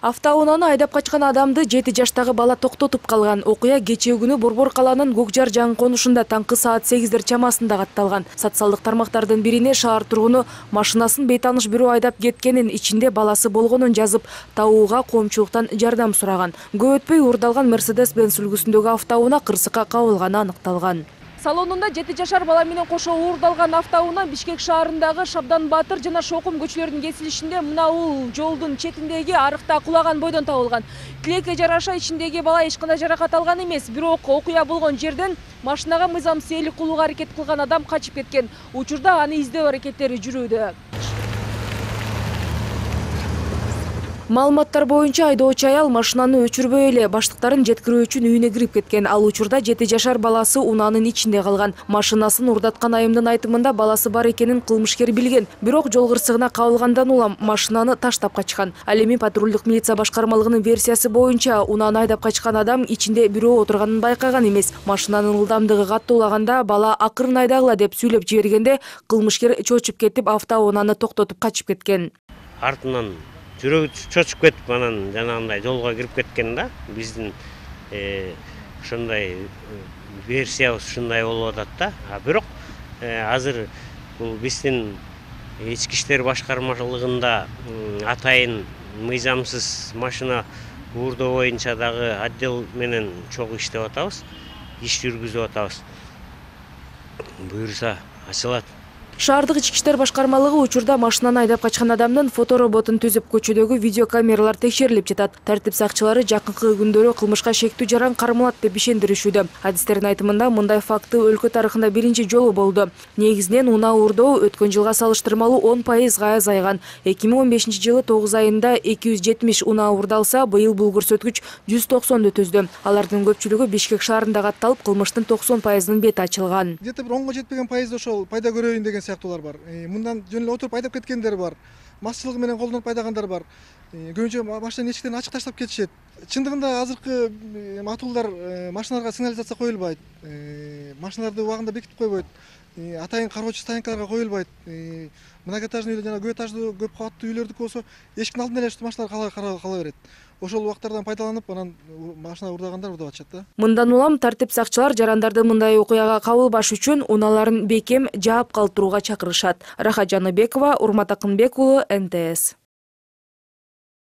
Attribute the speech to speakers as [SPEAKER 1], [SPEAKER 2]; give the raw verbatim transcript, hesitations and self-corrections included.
[SPEAKER 1] Автоунааны айдап качкан адамды жети жаштагы бала токтотуп калган. Окуя кечээ күнү Борбор калаанын Көкжар жаңы конушунда таңкы саат сегиздер чамасында катталган. Социалдык тармактардын бирине шаар тургуну машинасын бейтааныш бирөө айдап кеткенин, ичинде баласы болгонун жазып, табууга коомчулуктан жардам сураган. Көп өтпөй уурдалган Mercedes-Benz үлгүсүндөгү автоунаа кырсыкка кабылганы аныкталган. Салонунда жети жашар бала менен кошо уурдалган автоунаа Бишкек шаарындагы Шабдан Батыр жана Шокум көчөлөрүнүн кесилишинде мынау жолдун четиндеги арыкта кулаган бойдон табылган. Тилекке жараша ичиндеги бала эч кандай жаракат алган эмес, бирок окуя болгон жерден машинага мыйзамсыз ээлик кылууга аракет кылган адам качып кеткен. Учурда аны издөө аракеттери жүрүүдө. Маалыматтар боюнча айдоочу аял машинаны өчүрбөй эле баштыктарын жеткирүү үчүн үйүнө кирип кеткен. Ал учурда жети жашар баласы унаанын ичинде калган. Машинасын урдаткан айымдын айтымында баласы бар экенин кылмышкер билген. Бирок жол кырсыгына кабылгандан улам машинаны таштап качкан. Ал эми патрулдук милиция башкармалыгынын версиясы боюнча унааны айдап качкан адам ичинде бирөө отурганын байкаган эмес. Машинанын ылдамдыгы каттуулаганда бала акырын айдагыла деп сүйлөп жибергенде кылмышкер чочуп кетип автоунааны токтотуп качып кеткен.
[SPEAKER 2] Артынан жүрөгү чочуп кетип, анан жанагындай жолго кирип кеткен да. Биздин ошондой версиябыз ушундай болуп атат да. А бирок азыр бул биздин ички иштер башкармалыгында атайын мыйзамсыз машина уурдоо боюнча дагы отдел менен чогуу иштеп атабыз, иш жүргүзүп атабыз. Буюрса ачылат.
[SPEAKER 1] Шаардык ички иштер башкармалыгы учурда машинаны айдап качкан адамдын фотороботун түзүп, көчөдөгү видеокамералар текшерилип жатат. Тартип сакчылары жакынкы күндөрү кылмышка шектүү жаран кармалат деп ишендиришүүдө. Адистердин айтымында мындай факты өлкө тарыхында биринчи жолу болду. Негизинен унаа уурдоо өткөн жылга салыштырмалуу он пайызга азайган. эки миң он бешинчи жылы тогуз айында эки жүз жетимиш унаа уурдалса, быйыл бул көрсөткүч жүз токсонду түздү. Алардын көпчүлүгү Бишкек шаарында катталып, кылмыштын токсон пайызынын бети ачылган.
[SPEAKER 3] Где-то бир онго жетпеген пайызда ошол пайда көрөйүн деген сыяктуулар бар. Мындан жөн эле отуруп айдап кеткендер бар. Мастчылыгы менен колдонуп айдагандар бар. Көбүнчө машинанын эшиктерин ачык таштап кетишет. Чындыгында азыркы атуулдар машиналарга сигнализация коюлбайт. Машиналарды убагында бекитип койбойт. Атайын кароочу стоянкаларга коюлбайт. Многоэтажный үйлөр жана көп этаждуу көп кабаттуу үйлөрдүкү болсо эшиктин алдында эле машиналар кала берет. Ошол убактардан пайдаланып, анан машина урдагандар урдап атышат да.
[SPEAKER 1] Мындан улам тартип сакчылар жарандарды мындай окуяга кабылбаш үчүн унааларын бекем жаап калтырууга чакырышат. Рахат Жаныбекова, Урмат Акынбек уулу, Н Т С.